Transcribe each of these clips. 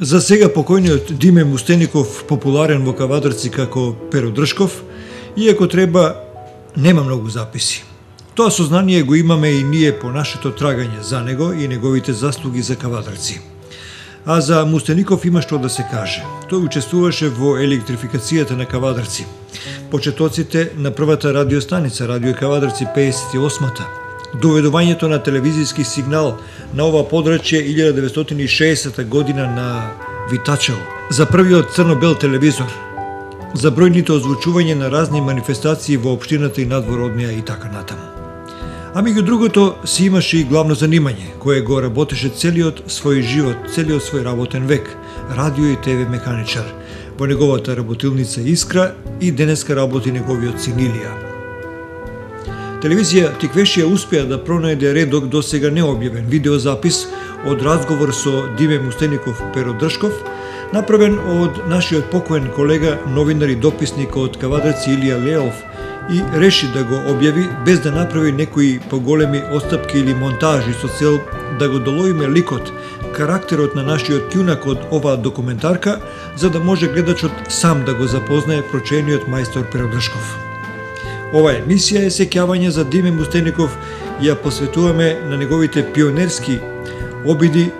За сега покојниот Диме Мустеников, популарен во Кавадарци како Перо Дршков, иако треба, нема многу записи. Тоа сознание го имаме и ние по нашето трагање за него и неговите заслуги за Кавадарци. А за Мустеников има што да се каже. Тој учествуваше во електрификацијата на Кавадарци, почетоците на првата радиостаница, Радио Кавадарци 58-та, доведувањето на телевизиски сигнал на ова подрачје 1960 година на Витачево, за првиот црно-бел телевизор, за бројните озвучување на разни манифестации во општината и надвороднија и така натаму. А меѓу другото си имаше и главно занимање, кое го работеше целиот свој живот, целиот свој работен век, радио и ТВ механичар, во неговата работилница Искра и денеска работи неговиот син Илија. Телевизија Тиквешија успеа да пронајде редок до сега необјавен видеозапис од разговор со Диме Мустеников Перо Дршков, направен од нашиот покоен колега, новинар и дописник од Кавадарци Илија Леов, и реши да го објави без да направи некои поголеми отстапки или монтажи со цел да го доловиме ликот, карактерот на нашиот јунак од оваа документарка, за да може гледачот сам да го запознае прочениот мајстор Перо Дршков. Ова емисија е сеќавање за Диме Мустеников и ја посветуваме на неговите пионерски обиди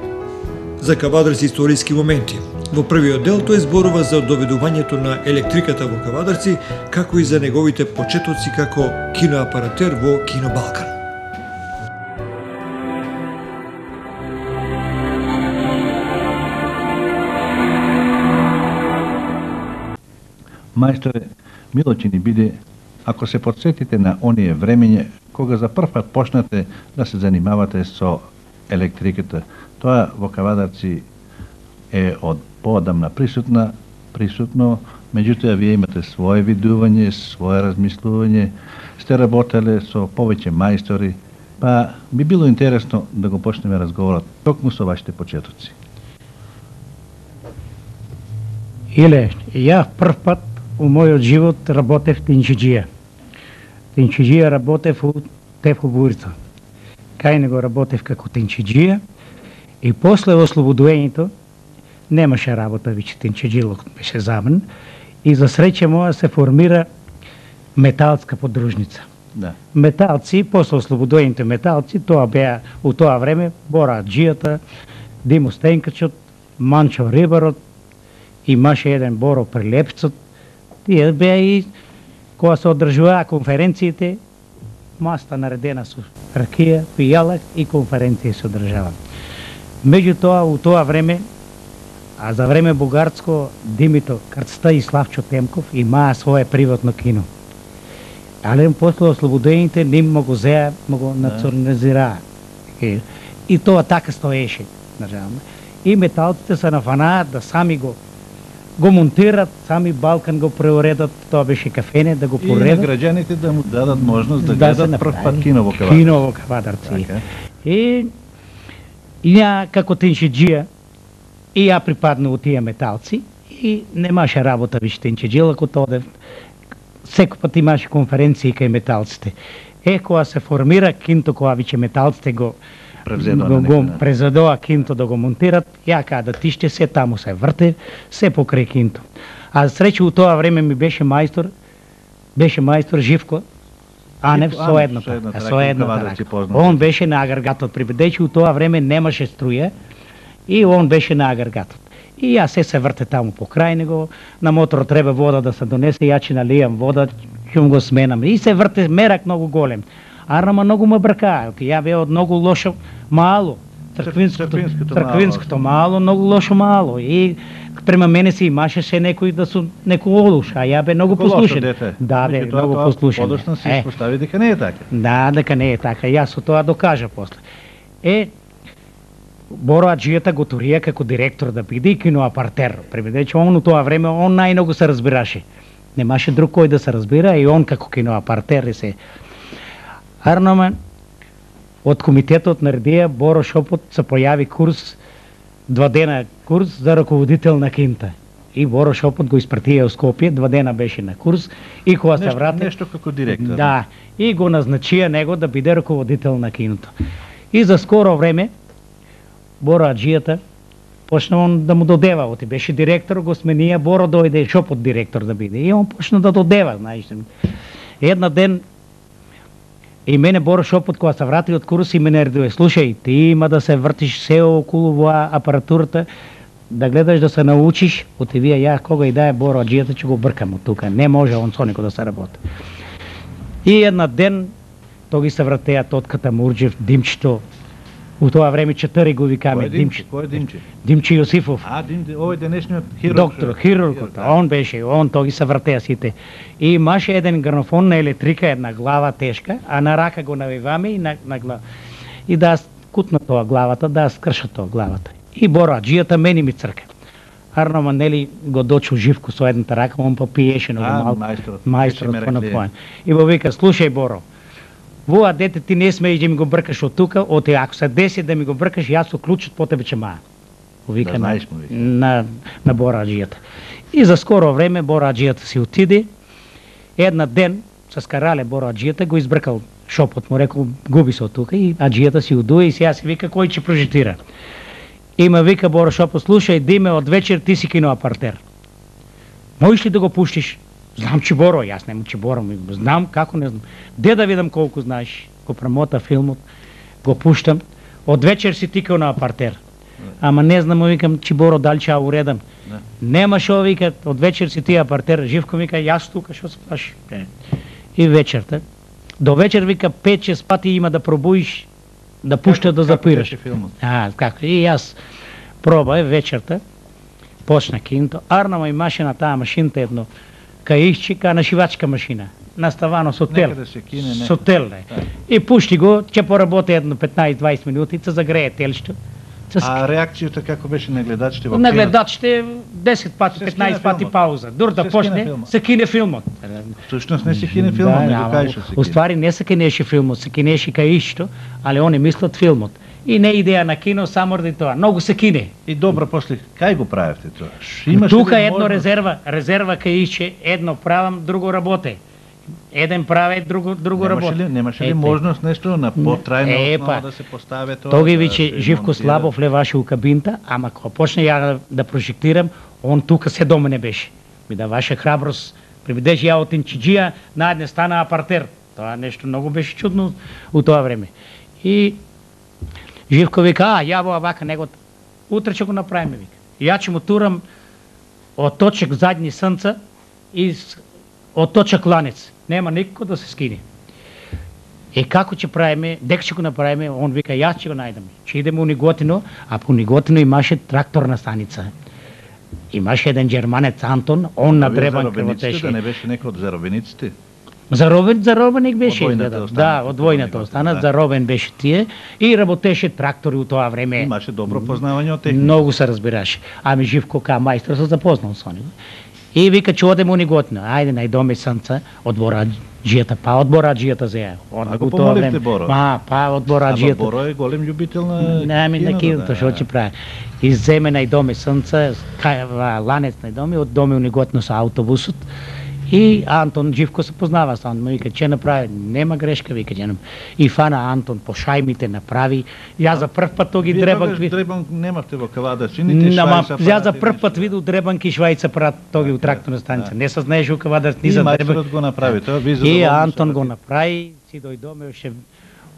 за Кавадарци историски моменти. Во првиот дел тој зборува за доведувањето на електриката во Кавадарци, како и за неговите почетоци како киноапаратер во Кино Балкан. Мајсторе, мило ќе ни биде ако се подсетите на оние времење кога за прв пат почнате да се занимавате со електриката. Тоа во Кавадарци е од поодамна присутно, меѓутоа вие имате свое видување, свое размислување, сте работеле со повеќе мајстори, па би било интересно да го почнеме разговорот токму со вашите почетоци. Иле, ја прв пат у мојот живот работев тинчиџија. Тинчиџија работев у Тефо Бурито. Кај него работев како тинчиџија и после ослободувањето немаше работа веќе, тинчиџилот беше забран и за среќа моја се формира металска подружница. Да. Металци, после ослободувањето металци, тоа беа у тоа време Бора Аџијата, Димо Стенкачот, Манчо Рибарот, имаше еден Боро Прилепцот. Тие беа и кога се одржуваа конференциите, маста наредена со ракија, пијалак и конференции се одржава. Меѓутоа, у тоа време, а за време бугарско, Димито Крцта и Славчо Темков имаа свое приватно кино. Але после ослободените ним го зеа, го национализираа. И тоа така стоеше. И металците се нафанаат да сами го монтират, сами Балкан го преуредат, тоа беше кафене, да го поредат. И на граѓаните да му дадат можност да гледат прв пат кино во Кавадарци. Кино во Кавадарци. И ја како тинчиџија, и ја припадна у тие металци, и немаше работа више тинчиџија, ако тоа секој пат имаше конференции кај металците. Кога се формира кинто, кога више металците го презадоа кинто да го монтират, ја када тиште се таму се врте, се покрај кинто. А среќа у тоа време ми беше мајстор Живко Анев со едната. Он беше на агрегатот, бидејќи у тоа време немаше струја и он беше на агрегатот. И ја се врте таму покрај него, на мотор треба вода да се донесе, ја ќе налијам вода, ќе го сменам. И се врте мерак многу голем. Арнама многу ме бркаа, ја беа од многу лошо мало. Црквинското мало, многу лошо мало. И према мене се имашеше некој да су некој олуш, а ја бе многу послушен. Да, бе, многу послушен. Подоцна се испостави дека не е така. Да, дека не е така. Јас со тоа докажа после. Боро Аџијата го турија како директор да биде киноапартер. Бидејќи он у тоа време он најмногу се разбираше. Немаше друг кој да се разбира и он како киноапартер се. Арноме, од комитетот наредија Боро Шопот се појави курс, 2 дена курс за раководител на кинта. И Боро Шопот го испратија у Скопје, 2 дена беше на курс и кога се врати... Нешто како директор. Да, и го назначија него да биде раководител на киното. И за скоро време Боро Аџијата почна он да му додева, оти беше директор, го сменија, Боро дојде Шопот директор да биде. И он почна да додева, знаеш. Една ден и мене Боро Шопот кога се врати од курс и мене редуе, слушај, ти има да се вртиш се околу во апаратурата, да гледаш да се научиш, оти вие ја кога и да е Боро аџијата ќе го бркам од тука, не може он со никој да се работи. И една ден тоги се вратеа тотката Мурџев, Димчето. У тоа време 4 го викаме Димче. Кој е Димче? Димче Јосифов. Овој денешниот хирург. Доктор, хирургот. Он беше, он тоги се вратеа сите. И имаше еден грамофон на електрика, една глава тешка, а на рака го навиваме и на глава. И да кутна тоа главата, да скрша тоа главата. И Боро аџијата мене ми црка. Арно Манели го дочу Живко со едната рака, он па пиеше на малку. Мајсторот по напоен. И го вика, слушај Боро, воа дете ти не смееш да ми го бркаш од тука, оти ако се деси да ми го бркаш, јас со клучот по тебе ќе маа. Вика да знаеш, на Боро аџијата. И за скоро време Боро аџијата си отиде. Една ден со скарале Боро аџијата го избркал Шопот, му рекол губи се од тука и аџијата си удуе и сега си вика кој ќе прожитира. Има вика Боро Шопот, слушај Диме, од вечер ти си кино апартер. Можеш ли да го пуштиш? Знам че Боро, јас нему че Боро, знам како не знам. Де да видам колку знаеш, го промота филмот, го пуштам, од вечер си тикал на апартер. Ама не знам, викам, че Боро дали ќе уредам. Нема шо, вика, од вечер си ти апартер, Живко вика, јас тука, шо се плаши. И вечерта, до вечер вика 5-6 пати има да пробуиш, да пушта да запираш. Како, и јас пробај вечерта, почна кинто, арнама имаше на таа машината едно, каишчика на шивачка машина, наставано со тел. Со тел, и пушти го, ќе поработи едно 15-20 минути, се загрее телшто. А реакцијата како беше на гледачите во кино? На гледачите 10 пати, 15 пати пауза. Дур да почне, се кине филмот. Всушност не се кине филмот, не го кажеш се кине. Уствари не се кинеше филмот, се кинеше каишто, али они мислат филмот. И не идеја на кино, само ради тоа. Многу се кине. И добро, после, кај го правевте тоа? Тука едно резерва каишче, едно правам, друго работе. Еден прави, друго работи. Немаше ли можност нешто на потрајна основа да се постави тоа? Тоги виче Живко Слабов леваше у кабинта, ама кога почне ја да прожектирам, он тука се до мене беше. Ми даваше храброст, приведеше ја од Инчиџија, наедне стана апартер. Тоа нешто многу беше чудно у тоа време. И Живко вика, ја во вака него, утре ќе го направиме, вика. Ја ќе му турам од точек задни срнца и од точак ланец. Нема никој да се скине. И како ќе правиме, дека ќе го направиме, он вика, јас ќе го најдам. Ќе идеме у Ниготино, а по Ниготино имаше тракторна станица. Имаше еден џерманец Антон, он на дребан крвотеше. Да не беше некој од заробениците? Заробеник беше, да, од војната остана, заробен беше тие и работеше трактори у тоа време. Имаше добро познавање од техника. Многу се разбираше. Ами Живко ка мајстор се запознал со него. И вика, че одем у Ниготино. Ајде, најдоме срнца од Бораџијата, па од Бораџијата зеја. А го помоливте Боро? Па од Бораџијата. Боро е голем љубител на киното. На киното, шо ќе прави. И земе најдоме срнца, ланец најдоме, од доме у Ниготино со автобусот. И Антон Живко се познава со он, вика, че направи, нема грешка, вика, и фана Антон по шајмите направи. Ја за прв пат тоги дребанки. Вие дребанк немавте во Кавадарци, нити швајца. Ја за прв пат видов дребанки швајца прат тоги у тракторна станица. Не се знаеше у Кавадарци ни за дребанки. И мајсторот го направи тоа, ви И Антон го направи, си дојдоме уште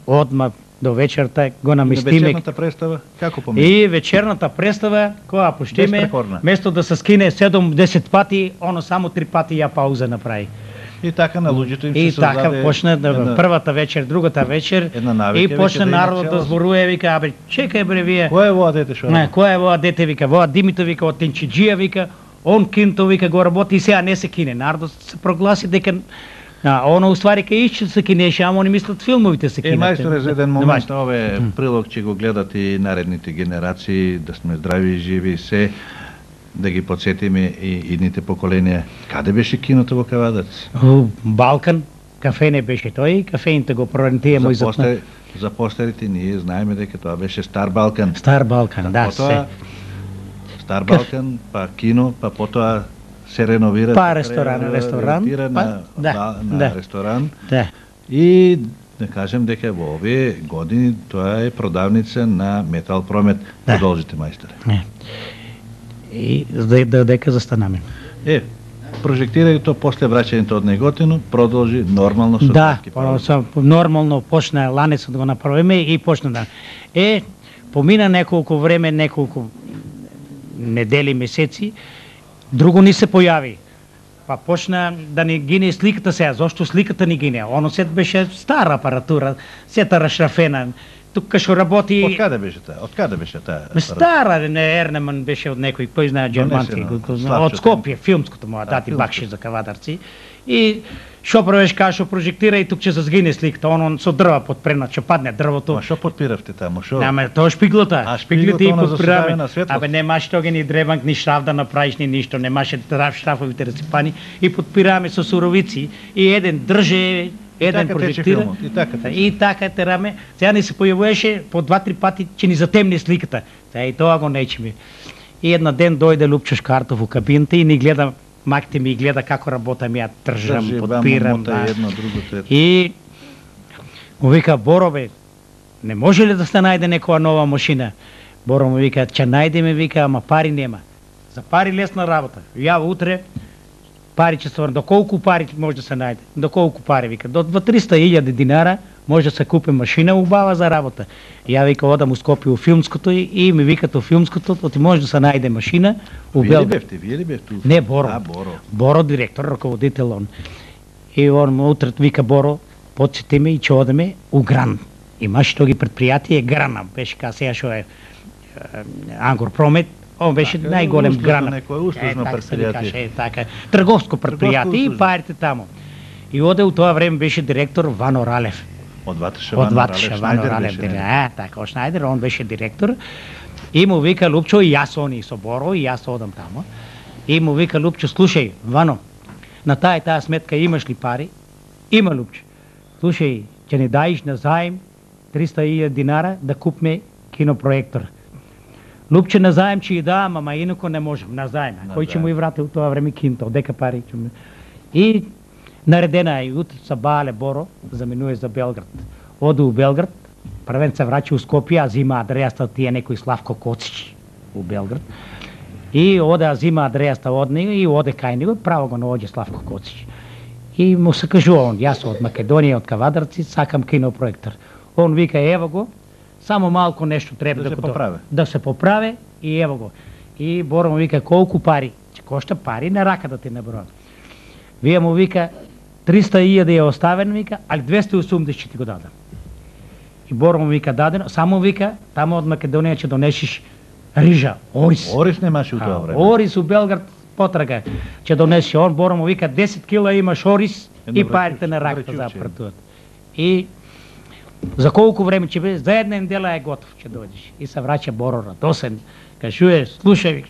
одма до вечерта го наместиме. Вечерната представа како помисли? И вечерната представа кога пуштиме, место да се скине 7-10 пати, оно само 3 пати ја пауза направи. И така на луѓето им се создаде. И така почна првата вечер, другата вечер и почна народот да зборува, вика, абе чекај бре вие. Кој е воа дете шо? Не, кој е воа дете, вика, воа Димито, вика, од Инчиџија, вика, он кинто, вика, го работи и сега не се кине. Народот се прогласи дека оно уствари кај ишче се кинеше, ама они мислат филмовите се кинат. Мајсторе, за еден момент ове прилог ќе го гледат и наредните генерации, да сме здрави и живи се, да ги подсетиме и идните поколенија. Каде беше киното во Кавадарци? Балкан, кафе не беше тој, кафените го прорентиемо и за постарите ние знаеме дека тоа беше Стар Балкан. Стар Балкан, да, се. Стар Балкан, па кино, па потоа се реновира, па ресторан, на ресторан. Да. И не кажем дека во овие години тоа е продавница на Метал Промет. Продолжите, мајсторе. И дека застанаме. Прожектирањето после враќањето од Неготино продолжи нормално со татки пауза. Да, нормално почна ланецот го направиме и почна да. Помина неколку време, неколку недели, месеци, друго ни се појави. Па почна да ни гине сликата сега. Зошто сликата ни гине? Оно сет беше стара апаратура, сета рашрафена. Тука што работи... Од каде беше таа? Од каде беше таа? Стара, не Ернеман беше од некој, кој знае џермански, од Скопје, филмското му дати бакши за кавадарци. И шо правиш, кај шо прожектира и тук ќе зазгине сликата, оно со дрва подпренат, ќе падне дрвото. Ма шо подпиравте таму? Шо? Ама тоа шпиглата. Шпиглите и подпираме. Абе немаше тога ни дребанк, ни штраф да направиш, ни ништо, немаше штрафовите реципани и подпираме со суровици и еден држе еден прожектира и така тераме. Сега ни се појавуваше по 2-3 пати че ни затемни сликата. Сега и тоа го нечеме. И една ден дојде Лупчо Шкартов во кабината и ни гледа, макте ми и гледа како работам, ја тржам, подпирам. И му вика, Боро бе, не може ли да се најде некоја нова машина? Боро му вика, ќе најдеме, вика, ама пари нема. За пари лесна работа. Ја утре пари ќе се врне. До колку пари може да се најде? До колку пари, вика? До 300.000 динара може да се купи машина убава за работа. Ја вика, одам у Скопје у филмското и ми викат у филмското, оти може да се најде машина у Белград. Вие ли бевте? Не, Боро. Боро. Боро директор, раководител он. И он утре вика, Боро, подсети ме и ќе одеме у Гран. Имаше тоги предпријатие Грана, беше ка сега што е Ангор Промет. Он беше најголем Грана. Некој услужно предпријатие. Така, трговско предпријатие и парите таму. И оде у тоа време беше директор Вано Ралев. Од Ватеша Вано Ралев. Така, Шнајдер, он беше директор. И му вика Лупчо, и јас они со Боро, и јас одам таму. И му вика Лупчо, слушај, Вано, на таа сметка имаш ли пари? Има, Лупчо. Слушај, ќе ни даиш на заем 300.000 динара да купме кинопроектор. Лупче на заем ќе ја давам, ама инако не можам, на заем. Кој ќе му и врати у тоа време кинто, дека пари ќе му... И наредена е, утре са Бале Боро, заминуе за Белград. Оде у Белград, првен се врачи у Скопје, а зима адрејаста тие некој Славко Коцич у Белград. И оде, а зима адрејаста од него и оде кај него, право го наоѓе Славко Коцич. И му се кажува он, јас од Македонија, од Кавадарци, сакам кинопроектор. Он вика, ево го, само малку нешто треба да се поправи и ево го. И Боро му вика, колку пари? Че кошта пари на рака да ти набројам. Вие му вика, 300.000 ја оставен, вика, али 280 ќе ти го дадам. И Боро му вика, дадено, само вика, тамо од Македонија ќе донесиш рижа, ориз. Ориз немаше у тоа време. Ориз у Белград потрага ќе донесе. Он Боро му вика, 10 кила имаш ориз и парите на раката за апаратурата. И за колку време ќе биде? За една недела е готов, ќе дојдеш. И се враќа Боро радосен. Кажуе, слушај,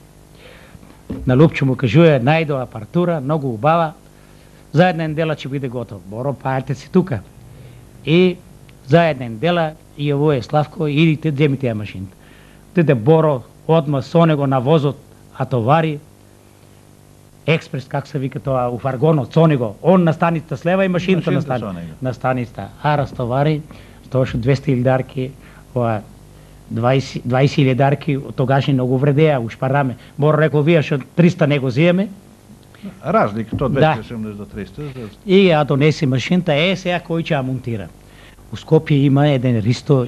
на Лупчо му кажуе, најдо апаратура, многу убава. За една недела ќе биде готов. Боро, парите си тука. И за една недела јавува Славко, идите, земите ја машината. Тиде Боро одма со него на возот, а товари експрес, как се вика тоа, у фаргонот, со него. Он на станицата слева и машината на станицата. А разтовари, стоеше 200 дарки, 20 дарки, тогашни многу вредеа, ушпараме. Боро рекол, вие што 300 него зиеме. Разлика, то 270 до 300. И ја донеси машината, сега кој ќе ја монтира. У Скопје има еден Ристо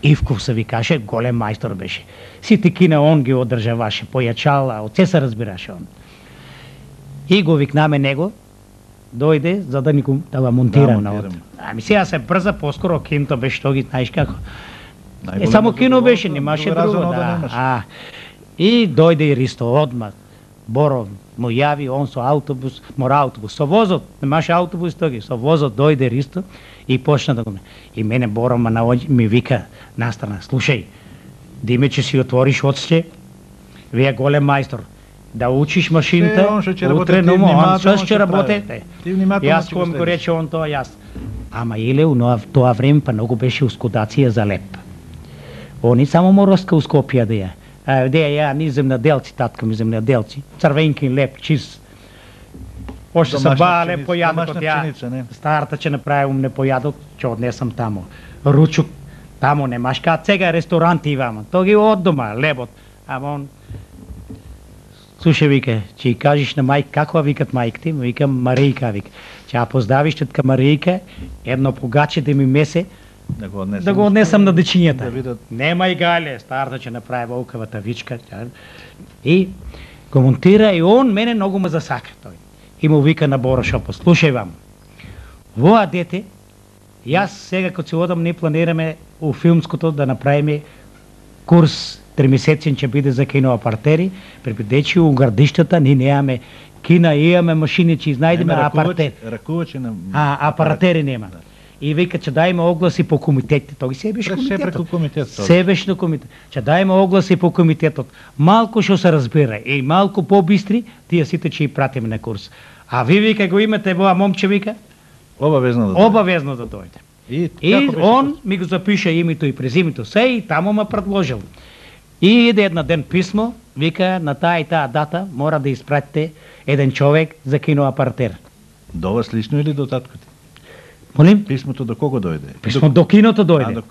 Ивков, се викаше, голем мајстор беше. Сите кина он ги одржаваше, појачал, од се се разбираше он. И го викнаме него, дојде за да ни го монтира на од. Ами сега се брза, поскоро кинто беше тоги, знаеш како. Само кино беше, немаше друго. И дојде и Ристо одма. Боро му јави, он со автобус, мора автобус, со возот, немаше автобус тоги, со возот дојде Ристо и почна да го... И мене Боро ми вика настрана, слушај, диме че си отвориш отсче, вие голем мајстор, да учиш машината, утре, но он што ќе работете. Јас кој го рече он тоа, јас. Ама иле у тоа време па многу беше ускудација за леп. Они само мороска у Скопје да ја. Де ја ни земјаделци, татка ми земјаделци, црвенки леп, чиз. Още са бале појадок од пшеница, не? Старата ќе направи појадок, ќе однесам тамо. Ручук, тамо немаш кај сега ресторанти имам. То ги од дома, лебот. Ама он слушај, вика, ќе ја кажеш на мајка, како викат мајките? Викам Маријка, вика. Ќе ја поздравиш тетка Маријка, едно погаче да ми месе, да го однесам на дечињата. Нема и гале, старата ќе направи волкавата вичка. И го монтира и он мене многу ме засака тој. И му вика на Боро Шопов, слушај вам, воа дете, јас сега кога ќе одам, не планираме у филмското да направиме курс 3-месецен ќе биде за киноапартери, припредечи у градиштата, ние немаме кина, имаме машини, ќе изнајдеме апартери. Ракувачи на... апаратери нема. И вика, ќе дајме огласи по комитетите. Тој се беше комитетот. Се беше на комитет. Ќе дајме огласи по комитетот. Малку што се разбира и малку побистри, тие сите ќе и пратиме на курс. А ви вика го имате воа момче, вика? Обавезно да дојде. И он ми го запиша името и презимето се и таму ме предложил. И иде една ден писмо, вика, на таа и таа дата мора да испратите еден човек за киноапартер. До вас лично или до таткото? Молим? Писмото до кого дојде? Писмо до киното дојде.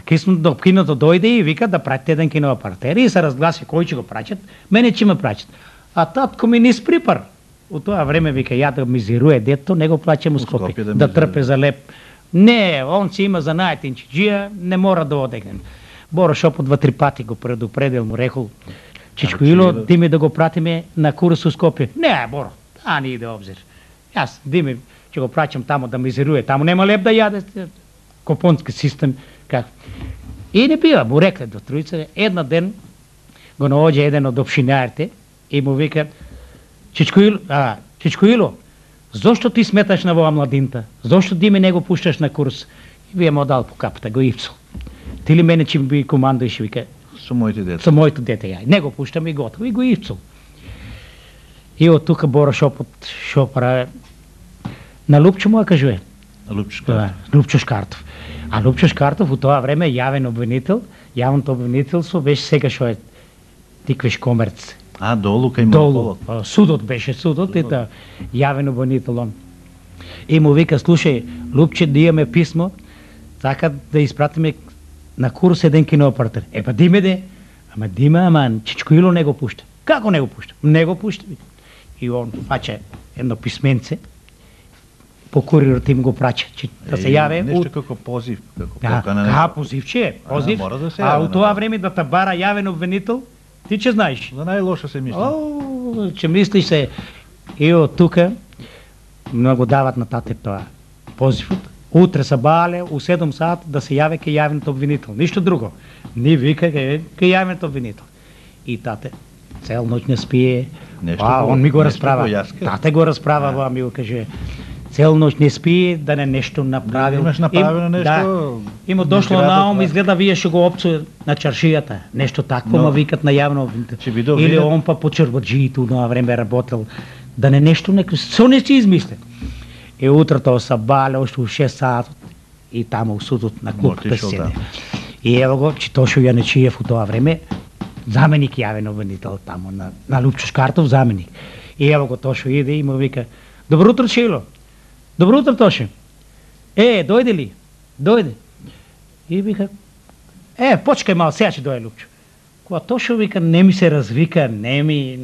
Писмо до киното дојде и вика да пратите еден киноапартер и се разгласи кој ќе го праќат, мене ќе ме праќат. А татко ми низ припар. У тоа време вика ја да мизируе дето, не го плаќам у Скопје, да трпе за леп. Не, он си има занајат инчиџија, не мора да одегнем. Боро Шопов 2-3 пати го предупредил, му рекол, Чичко Ило, диме да го пратиме на курс у Скопје. Не, Боро, не иде обзир. Јас, диме, ќе го праќам тамо да мизируе, тамо нема леп да јаде, копонски систем, как. И не бива, му рекле до тројца, една ден го наоѓа еден од опшинарите и му вика, Чичко Ило, зошто ти сметаш на воа младинта? Зошто диме не го пушташ на курс? И вие му дал по капата, го ипсал. Ти ли мене ќе би командуеш, вика? Со моите дете. Со моите дете, ја. Не го пуштам и готово, и го ипсал. И од тука Боро Шопот шо прави? На Лупчо му кажуе. Лупчо Шкартов. А Лупчо Шкартов у тоа време јавен обвинител, јавното обвинителство беше сега што е Тиквеш Комерц. Долу кај Молот. Судот беше судот и да јавен обвинител он. И му вика, слушај, Лупче, да имаме писмо, така да испратиме на курс еден киноапартер. Па диме де, ама Чичко Ило не го пушта. Како не го пушта? Не го пушта. И он фача едно писменце, по курирот им го праќа, да се јаве. Нешто како позив, како покана. Позивче, позив. А у тоа време да те бара јавен обвинител, ти ќе знаеш. За најлошо се мисли. Ќе мислиш се. И од тука многу дават на тате тоа позивот. Утре са бале, у 7 сат да се јаве кај јавниот обвинител. Ништо друго. Ни вика кај јавниот обвинител. И тате цел ноќ не спие. Он ми го расправа. Тате го расправа, ми го каже. Цел ноќ не спие, да не нешто направил. Имаш направено нешто? Има дошло на ум, изгледа вие што го опцу на чаршијата. Нешто такво ма викат на јавно обвинител. Или он па по чербаджиито на време работел. Да не нешто, со не си измислен. И утрото са бале, уште у 6 сат и таму у судот на клупата седе. И ево го, Читошо Јанечиев у тоа време, заменик јавен обвинител таму, на Лупчо Шкартов заменик. И ево го, Тошо иде и му вика, добро утро, Чило. Добро утро, Тошо. Дојде ли? Дојде. И вика, почкај мал, сега ќе дојде Лупчо. Кога Тошо вика, не ми се развика, не ми...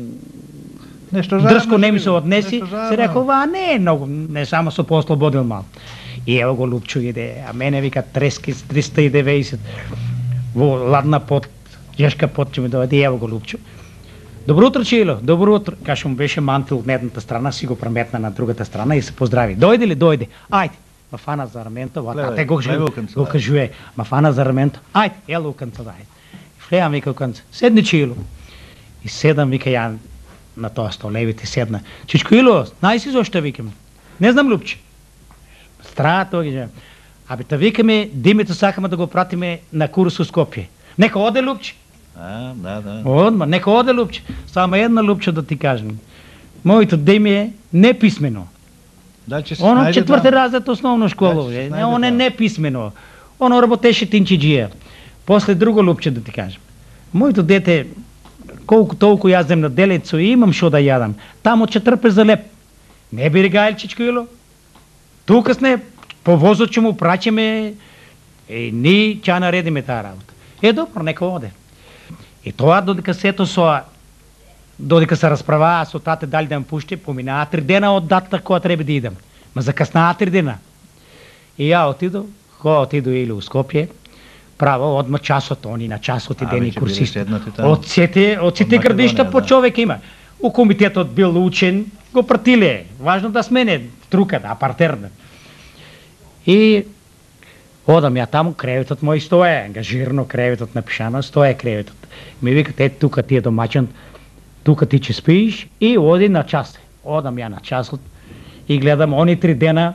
дрско не ми се однеси, се рекол, не е многу, не само со послободил мал. И ево го Лупчо иде, а мене вика трески с 390, во ладна пот, жешка пот ќе ми дојде, и ево го Лупчо. Добро утро, Чило, добро утро. Каша му беше мантил од едната страна, си го преметна на другата страна и се поздрави. Дојде ли, дојде? Ајде. Ма фана за раменто, те го кажуе, ма фана за раменто, ајде, ел у канца, ајде. Влеам вика у канца, седни, Чило. И седам, вика ја на тоа столевите седна. Чичко Ило, знај си зошто викаме? Не знам, Лупче. Страа тоа ги. Та викаме, димето сакаме да го пратиме на курс у Скопје. Нека оде, Лупче. Да. Одма, нека оде, Лупче. Само една, Лупче, да ти кажем. Моето деме е неписмено. Оно 4-ти разред основно школа. Он е неписмено. Оно работеше тинчиџија. После друго, Лупче, да ти кажем. Моето дете колку толку јаздем на делецо и имам шо да јадам. Тамо ќе трпе за леп. Не би гајлчичко ило. Тука сне, по возот ќе му праќеме, ни ќе наредиме таа работа. Добро, нека оде. И тоа додека сето додека се расправаа со тате дали да ме пушти, поминаа 3 дена од датата која треба да идам. Ма закаснаа 3 дена. И ја отидов, отиду или у Скопје, право одма часот, они на часот и дени курсисти. Од сите градишта по човек има. У комитетот бил учен, го пратиле. Важно да смене труката, апартерна. И одам ја таму, креветот мој стоја, ангажирано креветот напишано, стоја креветот. Ми викат, тука ти е домаќан, тука ти ќе спииш и оди на час. Одам ја на часот и гледам они 3 дена,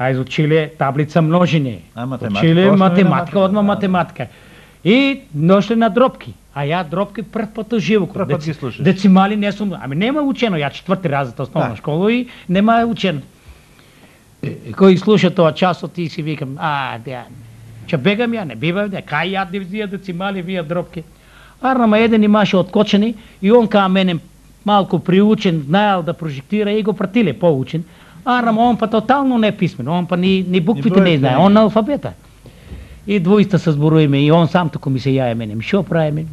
изучиле таблица множење. Училе математика, одма математика. И ношле на дропки. А ја дропки прв пат живо. Децимали не сум, нема учено, ја 4-ти разред основна школа и нема учено. Кој слуша тоа часот и си викам, ќе бегам ја, не бивам, кај ја дивзија децимали, вија дропки. Арнама еден имаше откочени и он кај мене малку приучен, знаел да прожектира и го пратиле поучен. Арнама он па тотално не писмен, он па ни буквите не знае, он на алфабета. И двојста се зборуеме и он сам тако ми се јае мене, шо правиме?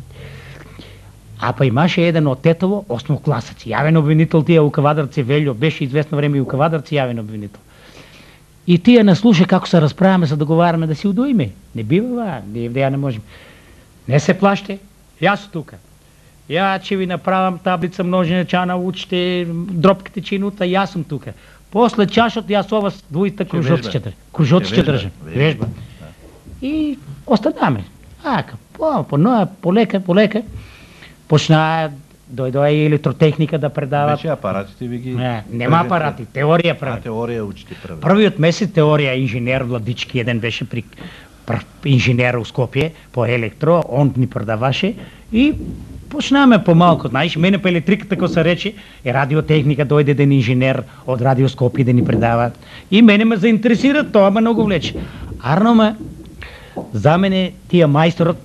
А па имаше еден од Тетово, осмокласец, јавен обвинител тие у Кавадарци, Велјо, беше известно време и у Кавадарци јавен обвинител. И тие не слуша како се расправаме, се договараме да си удоиме. Не бива, ја не можем. Не се плаште, јас тука. Ја ќе ви направам таблица множење, ќе научите дропките чинута, јас сум тука. После чашот јас ова двојста кружоци ќе држам. Вежба. И останаме. Полека. Почнаа, дојдоа и електротехника да предават. Беше апаратите ви ги... Нема апарати, теорија прави. Теорија учите прво. Првиот месец теорија, инженер Владички, еден беше при инженер у Скопје, по електро, он ни предаваше и почнаме помалку, знаеш, мене по електриката, како се рече, радиотехника, дојде еден инженер од Радио Скопје да ни предава. И мене ме заинтересира, тоа ме многу влече. Арно за мене тие мајсторот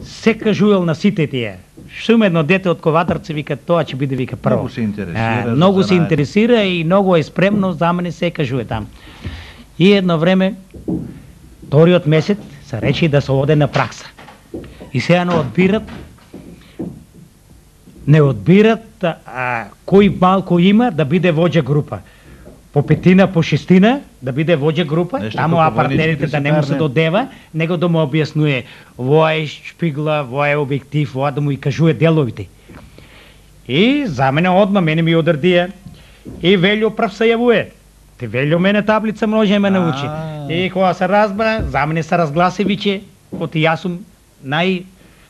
се кажувал на сите тие. Шум едно дете од Ковадарци, вика, тоа ќе биде, вика, прво. Многу се интересира и многу е спремно, за мене се кажува там. И едно време, вториот месец, се рече да се оде на пракса. И сега не одбират кој малко има да биде воđа група. По 5, по 6 да биде воđа група, таму апартерите да не му се додева, него да му објаснуе воа е шпигла, воа е објектив, воа да му и кажуе деловите. И за мене одма, мене ми одредија и Велјо прв се јавуе. Те Велјо мене таблица може ме научи. И кога се разбра, за мене се разгласи виче, оти јас сум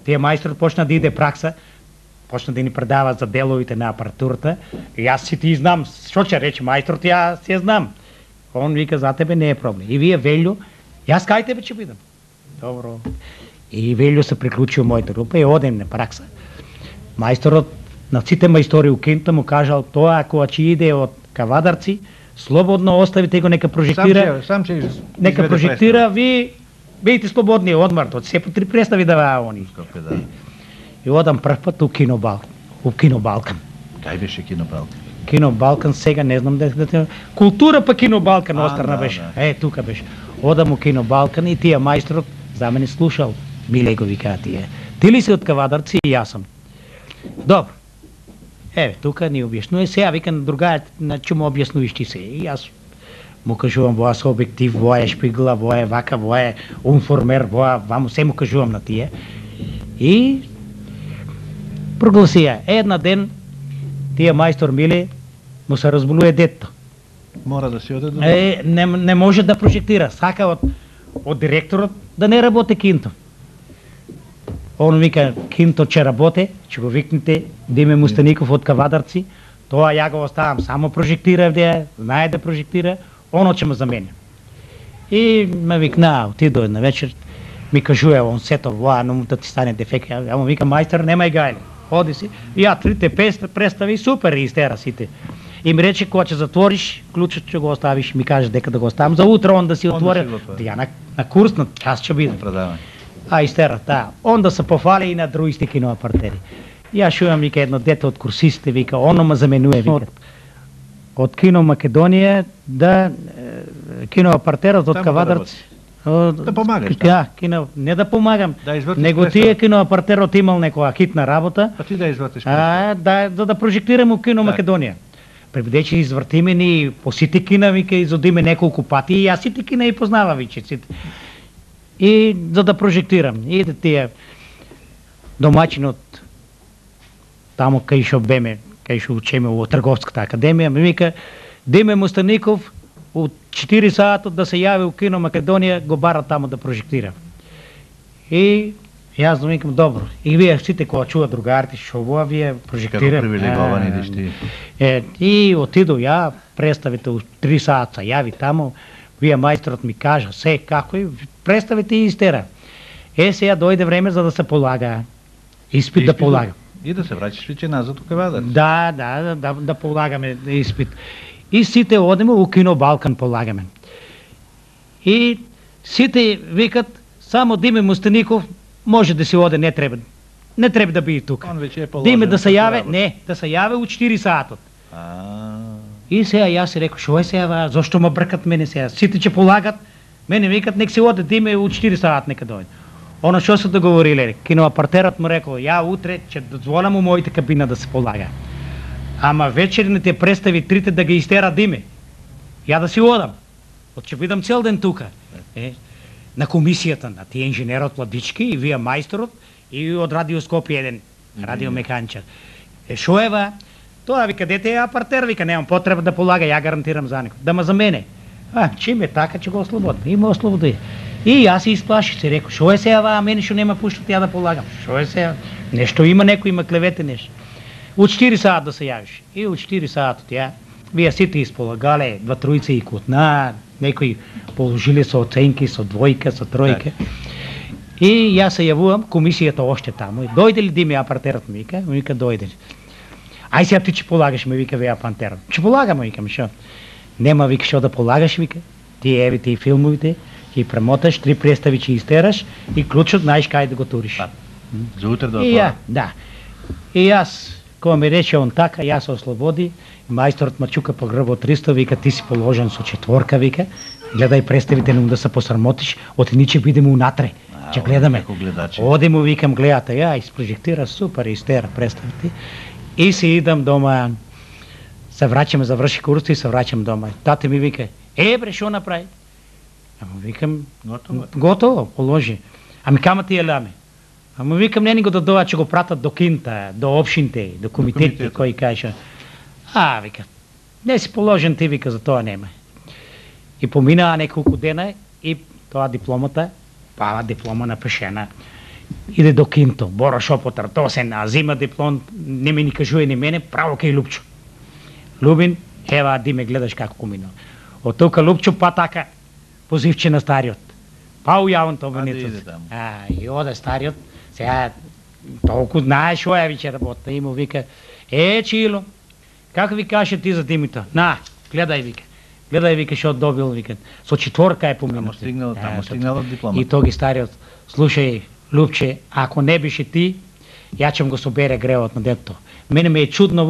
тие мајстор почна да иде пракса, почна да ни предава за деловите на апаратурата. И јас си ти знам, што ќе рече мајсторот, јас си ја знам. Он вика, за тебе не е проблем. И вие, Велјо, јас кај тебе ќе бидам. Добро. И Велјо се приклучи у мојата група и одем на пракса. Мајсторот на сите мајстори у Кинта му кажал, тоа ако ќе иде од Кавадарци, слободно оставите го, нека прожектира. Нека прожектира, ви бидете слободни, одмартот, се по 3 представи даваа они. И одам прв пат у Кино Балкан. Кај беше Кино Балкан? Кино Балкан сега не знам да култура па Кино Балкан острна беше. Тука беше. Одам у Кино Балкан и тие мајсторот за мене слушал. Миле го викаа тие. Ти ли си од Кавадарци и јас сум. Добро. Тука ни објаснуе. Сега викам другајот, ќе му објаснувиш ти се. И јас му кажувам воа со објектив, воа е шпигла, воа е вака, воа е унформер, воа ваму се му кажувам на тие. И прогласија. Една ден тие мајстор Миле му се разболува детето. Мора да си оде до... Не може да прожектира. Сака од директорот да не работи Кинто. Он вика, Кинто ќе работи, ќе го викнете Диме Мустаников од Кавадарци. Тоа ја го оставам, само прожектира, знае да прожектира, оно ќе ме замене. И ме викна, отидо една вечер, ми кажуе, он сето, воа, но му да ти стане дефект. Ја му вика, мајстор, немај гајле. Оди си, ја 3 представи, супер истера сите. И ми рече, кога ќе затвориш, клучот ќе го оставиш, ми каже дека да го оставам за утре, он да си отвори. Ја на курс, на час ќе бидам. Истера, он да се пофали и на другите киноапартери. Ја шујам, вика, едно дете од курсистите, вика, оно ме заменуе, вика. од Кино Македонија да киноапартерот од Кавадарци да помагаш. Не да помагам, да него тие киноапартерот имал некоја хитна работа. Па ти да извртиш. Да прожектираме у Кино Македонија. Преведече извртиме ни по сите кина, вика, изодиме неколку пати и јас сите кина и познава виче сите. И за да прожектирам, и да тие домаќинот тамо кај шо беме, кај шо учеме во Трговската академија, ми вика Диме Мустаников у 4 саатот да се јави у Кино Македонија, го бара тамо да прожектира. И јас да викам добро. И вие сите кога чува другарите шо во вие прожектира. Како привилеговани дишти. И отидов ја, представите у 3 саата јави тамо, вие мајсторот ми кажа се како и представите и истера. Сега дојде време за да се полага. Испит да полага. И да се враќаш веќе назад у Кавадарци. Да полагаме испит. И сите одеме у Кино Балкан полагаме. И сите викат само Диме Мустаников може да си оде, не треба да биде тука. Диме да се јаве, да се јаве у 4 саатот. И сега јас си рекол, шо е сега, зошто ме бркат мене сега? Сите ќе полагат, мене викат, нек се оде, Диме у 4 саат нека дојде. Оно што се договориле, киноапартерот му рекол, ја утре ќе дозволам у моите кабина да се полага. Ама вечерните представи трите да ги истера Диме. Ја да си одам. Ќе бидам цел ден тука. На комисијата, на тие инженерот Владички и вие мајсторот и од радиоскопи еден радиомеханичар. Шо ева? Тоа вика дете е апартер, вика немам потреба да полага, ја гарантирам за некој. Да ма за мене. Чим е така, ќе го ослободим. Има ослободи. И јас се исплаши, се рекол, шо е сега, мене шо нема пуштат ја да полагам. Шо е сега? Нешто има некој, има клевете нешто. У 4 саат да се јавиш. И у 4 саатот ја, вие сите исполагале, 2-3 и кутна, некои положили со оценки, со двојка, со тројка. И јас се јавувам, комисијата още тамо. Дојде ли Диме апартерот ми вика дојде ли. Ај сега ти ќе полагаш, ме вика веа апартерот. Ќе полагам, викам, шо? Нема, вика, шо да полагаш, вика. Ти евите и филмовите, ќе премоташ, 3 представи ќе истераш и клучот знаеш кај да го туриш. За утре да отвора. Да. И јас, кога ми рече он така, јас се ослободи, мајсторот ма чука по грбот 300, вика, ти си положен со 4, вика, гледај представите нему да се посрамотиш, отини ќе бидеме унатре, ќе гледаме. Одему, викам, гледате, ја, изпрожектира супер, истера представите. И си идам дома, се враќаме, заврши курс и се враќам дома. Тате ми вика, бре, шо направи? Ама викам, готово, положи. Ами кама ти еламе? Ама викам, не ни го додоа, че го пратат до кинта, до опшинте, до комитетите, кои каже. Вика, не си положен ти, вика, за тоа нема. И поминаа неколку дена и тоа дипломата, диплома напишена, иде до кинто, Боро Шопотар, тоа се назима диплом, не ми ни кажуе ни мене, право кај Лупчо. Лубин, ева, Диме, гледаш како минува. Од тука Лупчо, па така, позивче на стариот. Па ујавам тоа ваницот. И оде стариот, сега толку знае шо ја виче работа, и му вика, Чило, како ви каже ти за Димито? Гледај, вика, шо добил, вика, со 4 е поминато. Тамо стигнал диплома. И тоги стариот, слушај, Лупче, ако не беше ти, ја ќе го собере гревот на детето. Мене ме е чудно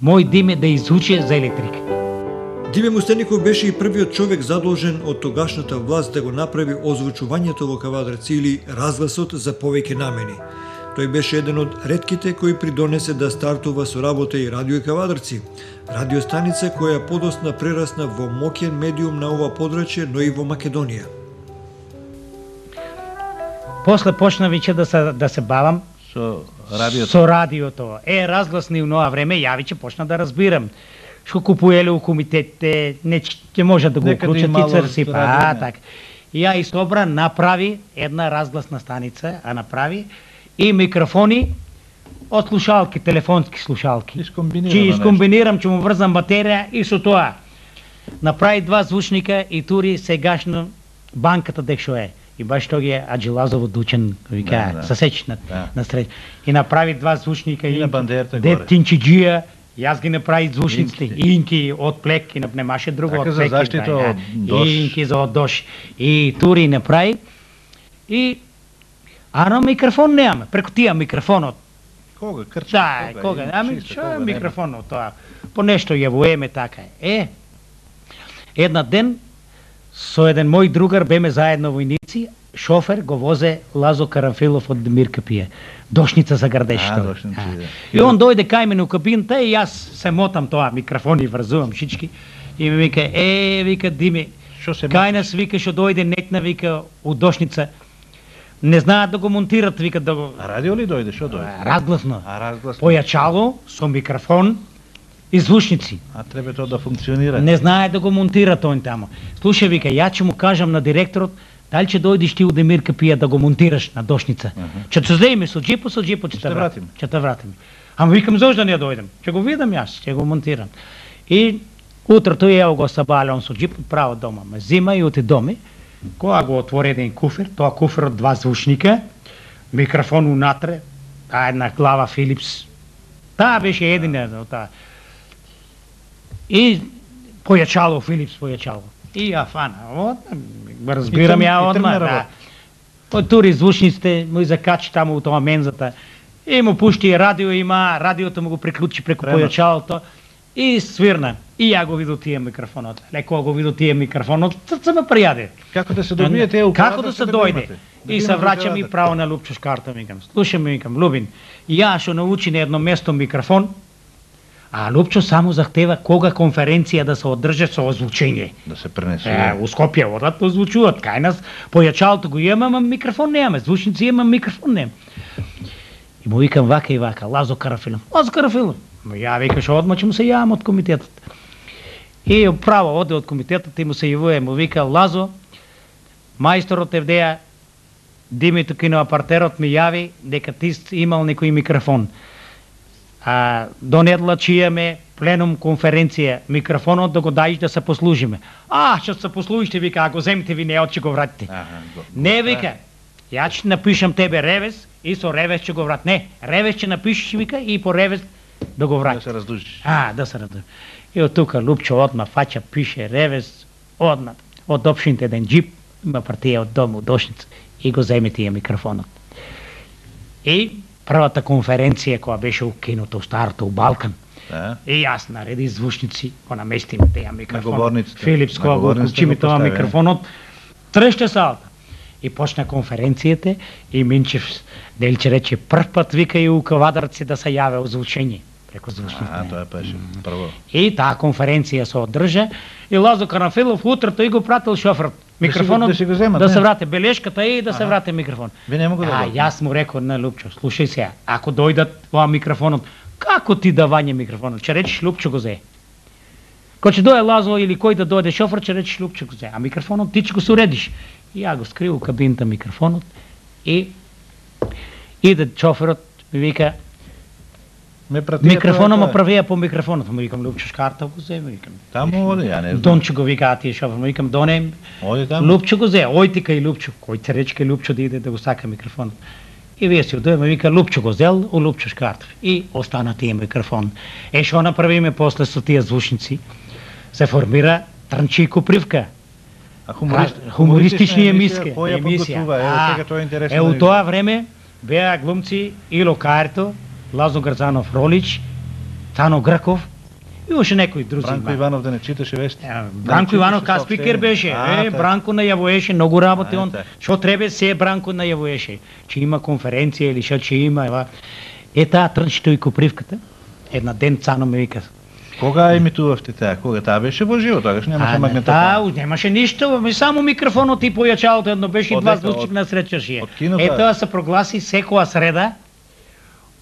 мој Диме да изучи за електрика. Диме Мустаников беше и првиот човек задолжен од тогашната власт да го направи озвучувањето во Кавадарци или разгласот за повеќе намени. Тој беше еден од ретките кои придонесе да стартува со работа и Радио Кавадарци, радиостаница која подосна прерасна во моќен медиум на ова подрачје, но и во Македонија. После почна веќе да се бавам со радиото. Разгласни у нова време, ја веќе почна да разбирам. Што купуеле у комитетите, не ќе може да го уклучат и црси, така. И ја Собра направи една разгласна станица, направи и микрофони од слушалки, телефонски слушалки. Ќе искомбинирам, ќе му врзам батерија и со тоа. Направи 2 звучника и тури сегашно банката дек шо е. И баш тоги е Аджилазово Дучен, вика, сасечнат на среќа. И направи 2 звучника и дед Тинчиджија, јас ги направи звучниците, инки од плек, и немаше друго од плек. За заштита од дош. Инки за од дош. И тури направи. И ано микрофон немаме, преку тија микрофонот. Кога? Крчка? Кога? Ами, што е микрофонот тоа? по нешто јавуеме така е. Една ден со еден мој другар беме заедно војници, шофер го возе Лазо Карафилов од Мирка Пие. Дошница за градешто. И он дојде кај мене у кабината и јас се мотам тоа, микрофони врзувам шички и ми вика, вика Дими, кај нас вика што дојде нетна вика у Дошница. Не знаат да го монтират, вика да го... А радио ли дојде, што дојде? Разгласно. Појачало со микрофон и звучници. А треба тоа да функционира. Не знае да го монтират он тамо. Слушај, вика, ја ќе му кажам на директорот, дали ќе дојдеш ти у Демир Капија да го монтираш на Дошница. Ќе се земе со джипо ќе те вратим. Ќе те вратим. Ама викам зошто не дојдем? Ќе го видам јас, ќе го монтирам. И утрото ево го сабале он со джип право дома. Ме зима и оти доми. Кога го отвори еден куфер, тоа куфер од 2 звучника, микрофон унатре, таа една глава Филипс. Таа беше едина таа. И појачало Филипс појачало. И ја фана, разбирам ја одма, да. Тури звучниците, му закачи таму у тоа мензата. И му пушти радио има, радиото му го приклучи преку појачалото и свирна. И ја го видов тие микрофонот. Леко го видов тие микрофонот, се ме пријаде. Како да се добиете како да се дојде. И се враќам и право на Лупчо Шкарта, викам. Слушам, викам, Лубин, ја што научи на едно место микрофон, а Лупчо само захтева кога конференција да се одржи со озвучење. Да се пренесе. У Скопје одат озвучуваат. Кај нас појачалото го имаме, микрофон немаме, звучници имаме, микрофон немаме. И му викам вака и вака, Лазо Карафилов. Лазо Карафилов. Ја викаш одма ќе му се јавам од комитетот. И право оде од комитетот и му се јавува, му вика Лазо, мајсторот Евдеја Димито киноапартерот ми јави дека ти имал некој микрофон. Донедла че имаме пленум конференција, микрофонот да го даиш да се послужиме. Што се послужите, вика, а го земите ви неот, ќе го вратите. Не, вика, ја ќе напишам тебе ревес и со ревес ќе го врат. Не, ревес ќе напишеш, вика, и по ревес да го врати. Да се раздужиш. Да се раздужиш. И од тука Лупчо одма фаќа, пише ревес, одма, од опшините еден джип, има партија од дома, од Дошница, и го земе тие микрофонот. И првата конференција која беше у киното, у старото, у Балкан, и јас нареди звучници, го наместиме теја микрофонот. Филипс, кога го купчиме тоа микрофонот, треше салата. И почна конференцијата и Минчев Делче рече прв пат вика и у Кавадарци да се јаве озвучење. Преко звучните. Тоа беше прво. И таа конференција се одржа и Лазо Карафилов утрото и го пратил шоферот. Микрофонот да се врате белешката и да се врате микрофон. Ви не могу да. Јас му рекол на Лупчо, слушај сега, ако дојдат тоа микрофонот, како ти да вање микрофонот? Ќе речеш Лупчо го зе. Кој ќе дое Лазо или кој да дојде шофер, ќе речеш Лупчо го зе, а микрофонот ти ќе го суредиш. И ја го скрил у кабината микрофонот и иде шоферот ми вика микрофонот ме правија по микрофонот. Му викам Лупчо Шкарта го зе, викам. Таму оди, ја не знам. Дончо го вика тие шофер, му викам Доне. Оди таму. Лупчо го зе, ојти кај Лупчо. Кој те рече кај Лупчо да иде да го сака микрофонот. И вие си одојме, вика Лупчо го зел у Лупчо Шкартов. И остана тие микрофон. Што направиме после со тие звучници? Се формира Трнчи и Копривка. Хумористични емисија. У тоа време беа глумци Ило Карто, Лазо Грзанов Ролич, Тано Грков и уште некои други. Бранко Иванов да не читаше вести. Бранко Иванов ка спикер беше. Бранко најавуваше многу работи он. Што треба се Бранко најавуваше. Че има конференција или што че има. Таа Трнчито и Копривката. Една ден Цано ме вика. Кога емитувавте таа? Кога таа беше во живо, тогаш немаше магнетофон. Немаше ништо, само микрофонот и појачалото едно беше и 2 звучник на сречаше. Тоа се прогласи секоја среда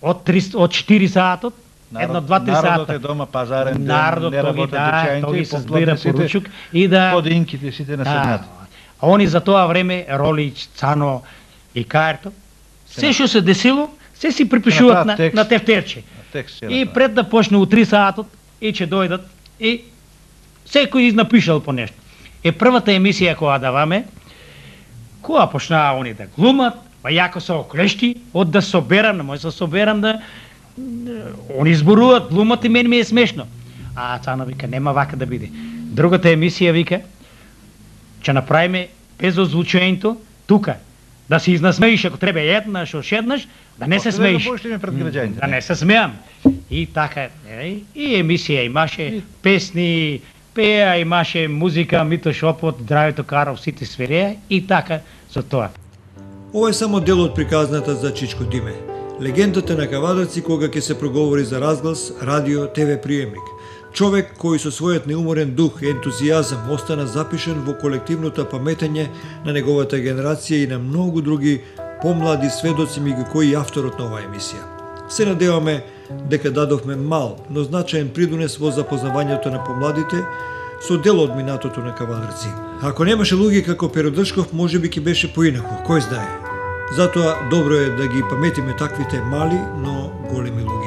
од 4 саатот, едно 2-3 сата. Народот е дома пазарен ден, не работат дучајните, се збира поручук и да подинките сите на седнат. А они за тоа време Ролич, Цано и Карто, се што се десило, се си припишуваат на тефтерче. И пред да почне у 3 саатот и ќе дојдат и секој изнапишал по нешто. Првата емисија која даваме, која почнаа они да глумат, па јако се оклешти, од да соберам, не може да соберам да они зборуваат, глумат и мене ми е смешно. А Цано вика, нема вака да биде. Другата емисија вика, ќе направиме без озвучењето тука, Да се изнасмеиш ако треба еднаш, ошеднаш, да не се смеиш. Да не се смеам. И така, и емисија имаше, песни, пеа, имаше музика, Мито Шопот, Здравето Каров, сите свиреа и така за тоа. Ова е само дел од приказната за Чичко Диме. Легендата на Кавадарци кога ќе се проговори за разглас, радио, ТВ приемник. Човек кој со својот неуморен дух и ентузијазам остана запишен во колективното паметење на неговата генерација и на многу други помлади сведоци меѓу кои авторот на оваа емисија. Се надеваме дека дадовме мал, но значаен придонес во запознавањето на помладите со дел од минатото на Кавадарци. Ако немаше луѓе како Перо Дршков, можеби ќе беше поинаку, кој знае. Затоа добро е да ги паметиме таквите мали, но големи луѓе.